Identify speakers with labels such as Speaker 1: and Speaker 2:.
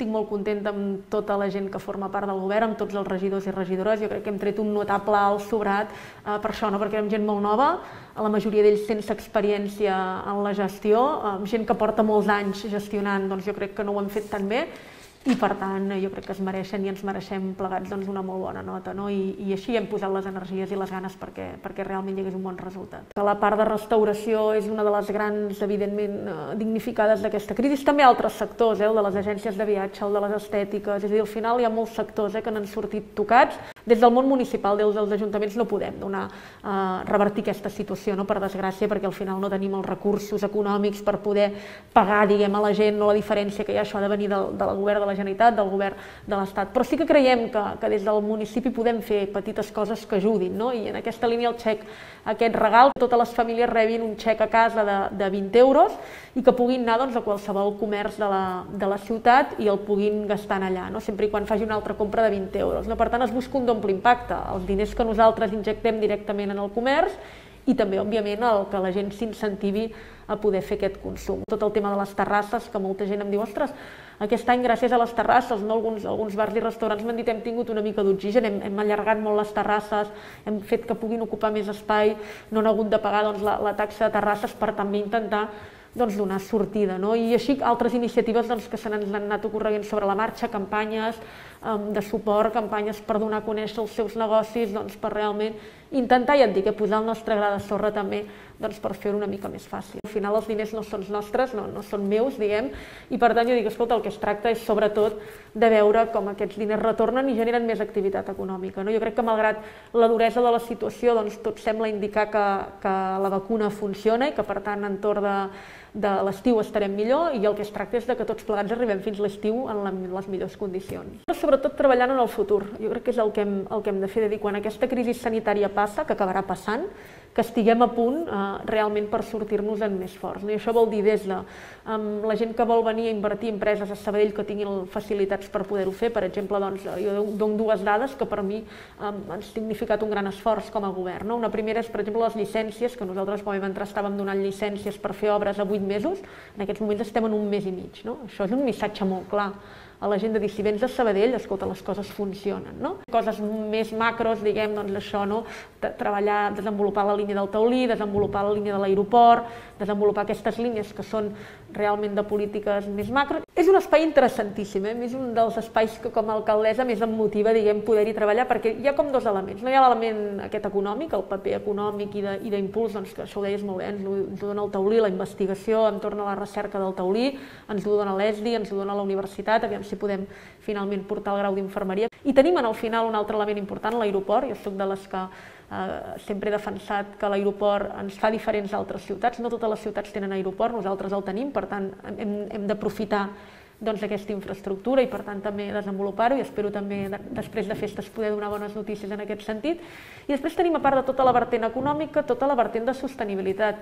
Speaker 1: estic molt contenta amb tota la gent que forma part del govern, amb tots els regidors i regidores. Jo crec que hem tret un notable alt sobrat per això, no? Perquè érem gent molt nova, la majoria d'ells sense experiència en la gestió, gent que porta molts anys gestionant, doncs jo crec que no ho hem fet tan bé, i per tant jo crec que es mereixen i ens mereixem plegats doncs, una molt bona nota, no? I així hem posat les energies i les ganes perquè realment hi hagués un bon resultat. La part de restauració és una de les grans, evidentment, dignificades d'aquesta crisi. També altres sectors, el de les agències de viatge, el de les estètiques, és a dir, al final hi ha molts sectors que n'han sortit tocats. Des del món municipal, des dels ajuntaments, no podem revertir aquesta situació, no? Per desgràcia, perquè al final no tenim els recursos econòmics per poder pagar, diguem, a la gent, no la diferència que hi ha, això ha de venir del govern de la Generalitat, del govern de l'Estat. Però sí que creiem que des del municipi podem fer petites coses que ajudin, no? I en aquesta línia el xec, aquest regal, totes les famílies rebin un xec a casa de 20 euros i que puguin anar doncs, a qualsevol comerç de la ciutat i el puguin gastar allà, no? Sempre i quan faci una altra compra de 20 euros. No? Per tant, es busca un doble impacte, els diners que nosaltres injectem directament en el comerç i també, òbviament, que la gent s'incentivi a poder fer aquest consum. Tot el tema de les terrasses, que molta gent em diu, ostres, aquest any, gràcies a les terrasses, no? Alguns bars i restaurants m'han dit hem tingut una mica d'oxigen, hem allargat molt les terrasses, hem fet que puguin ocupar més espai, no han hagut de pagar doncs, la taxa de terrasses per també intentar donar sortida. No? I així altres iniciatives que se n'han anat ocorreguent sobre la marxa, campanyes de suport, campanyes per donar a conèixer els seus negocis, per realment intentar, ja et dic, posar el nostre gra de sorra també per fer-ho una mica més fàcil. Al final els diners no són nostres, no són meus, diguem, i per tant jo dic, escolta, el que es tracta és sobretot de veure com aquests diners retornen i generen més activitat econòmica. No? Jo crec que malgrat la duresa de la situació, tot sembla indicar que la vacuna funciona i que per tant entorn de l'estiu estarem millor i el que es tracta és que tots plegats arribem fins l'estiu en les millors condicions. Però sobretot treballant en el futur, jo crec que és el que hem de fer, de dir, quan aquesta crisi sanitària passa, que acabarà passant, que estiguem a punt realment per sortir-nos en més forts. I això vol dir des de la gent que vol venir a invertir en empreses a Sabadell que tinguin facilitats per poder-ho fer. Per exemple, jo dono dues dades que per mi han significat un gran esforç com a govern. Una primera és, per exemple, les llicències, que nosaltres quan vam entrar estàvem donant llicències per fer obres a 8 mesos, en aquests moments estem en un mes i mig. Això és un missatge molt clar a la gent de dir, si vens de Sabadell, escolta, les coses funcionen. Coses més macros, diguem, això, treballar, desenvolupar la línia del Taulí, desenvolupar la línia de l'aeroport, desenvolupar aquestes línies que són realment de polítiques més macro. És un espai interessantíssim, és un dels espais que com a alcaldessa més em motiva, diguem, poder-hi treballar, perquè hi ha com dos elements. Hi ha l'element aquest econòmic, el paper econòmic i d'impuls, que això ho deies molt bé, ens ho dona el Taulí, la investigació entorn a la recerca del Taulí, ens ho dona l'ESDI, ens ho dona la universitat, aviam si podem finalment portar el grau d'infermeria. I tenim al final un altre element important, l'aeroport. Jo soc de les que sempre he defensat que l'aeroport ens fa diferents d'altres ciutats. No totes les ciutats tenen aeroport, nosaltres el tenim, per tant hem d'aprofitar aquesta infraestructura i per tant també desenvolupar-ho i espero també després de festes poder donar bones notícies en aquest sentit. I després tenim, a part de tota la vertent econòmica, tota la vertent de sostenibilitat.